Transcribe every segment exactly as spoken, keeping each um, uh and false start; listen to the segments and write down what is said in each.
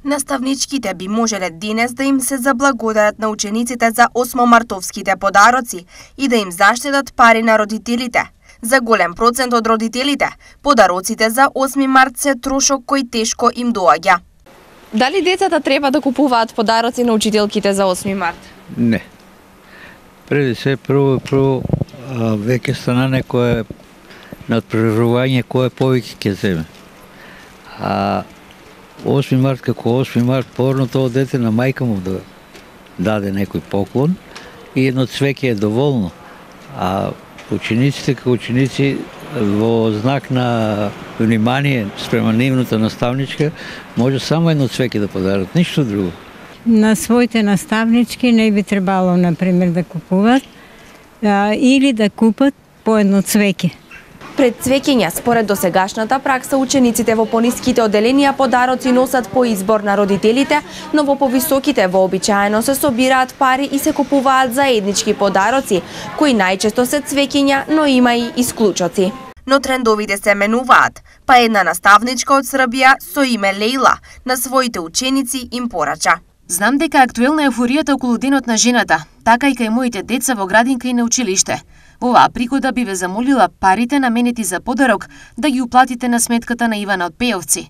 Наставничките би можеле денес да им се заблагодарат на учениците за осмомартовските подароци и да им заштедат пари на родителите. За голем процент од родителите, подароците за осми март се трошок кој тешко им доаѓа. Дали децата треба да купуваат подароци на учителките за осми март? Не. Преди се прво, прво веќе стана некое надпреварување кој повеќе ќе земе. А осми март како осми март, порно тоа дете на мајка му да даде некој поклон и едно цвеќе е доволно. А учениците како ученици во знак на внимание спрема нивната наставничка може само едно цвеќе да подарат, ништо друго. На своите наставнички не би требало, например, да купуват а, или да купат по едно цвеќе. Пред цвеќења, според досегашната пракса, учениците во пониските одделенија подароци носат по избор на родителите, но во повисоките вообичаено се собираат пари и се купуваат заеднички подароци, кои најчесто се цвеќења, но има и исклучоци. Но трендовите се менуваат, па една наставничка од Србија со име Лејла на своите ученици им порача. Знам дека актуелна е ефоријата околу Денот на жената, така и кај моите деца во градинка и на училиште. Во оваа пригода би ве замолила парите наменети за подарок да ги уплатите на сметката на Ивана од Пејовци.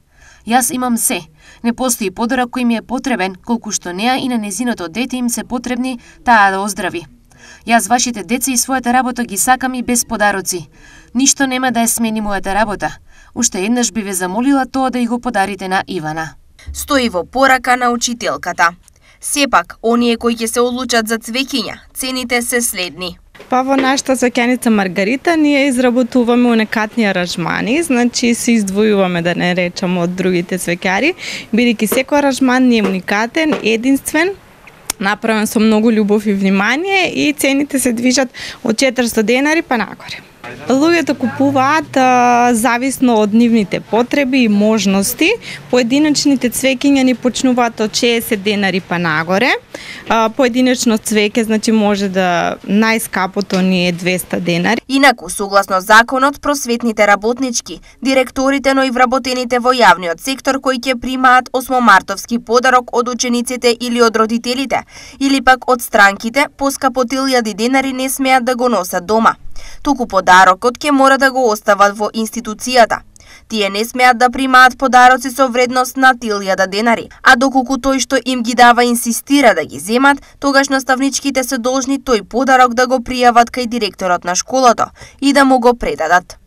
Јас имам се. Не постои подарок кој ми е потребен, колку што неа и на незиното дете им се потребни таа да оздрави. Јас вашите деца и својата работа ги сакам и без подароци. Ништо нема да ја смени мојата работа. Уште еднаш би ве замолила тоа да и го подарите на Ивана. Стои во порака на учителката. Сепак, оние кои ќе се одлучат за цвеќиња, цените се следни. Па во нашата цвеќаница Маргарита ние изработуваме уникатни аранжмани, значи се издвојуваме, да не речам, од другите цвеќари, бидејќи секој аранжман ни е уникатен, единствен, направен со многу љубов и внимание и цените се движат од четиристо денари па нагоре. Луѓето купуваат а, зависно од нивните потреби и можности. Поединечните цвеќиња ни почнуваат од шеесет денари па нагоре. А, поединечно цвеќе, значи може да најскапото ни е двесте денари. Инаку, согласно законот, просветните работнички, директорите, но и вработените во јавниот сектор кои ќе примаат осмомартовски подарок од учениците или од родителите, или пак од странките, поскапо од илјади денари не смеат да го носат дома. Туку подарокот ќе мора да го остават во институцијата. Тие не смеат да примаат подароци со вредност над илјада денари, а доколку тој што им ги дава инсистира да ги земат, тогаш наставничките се должни тој подарок да го пријават кај директорот на школото и да му го предадат.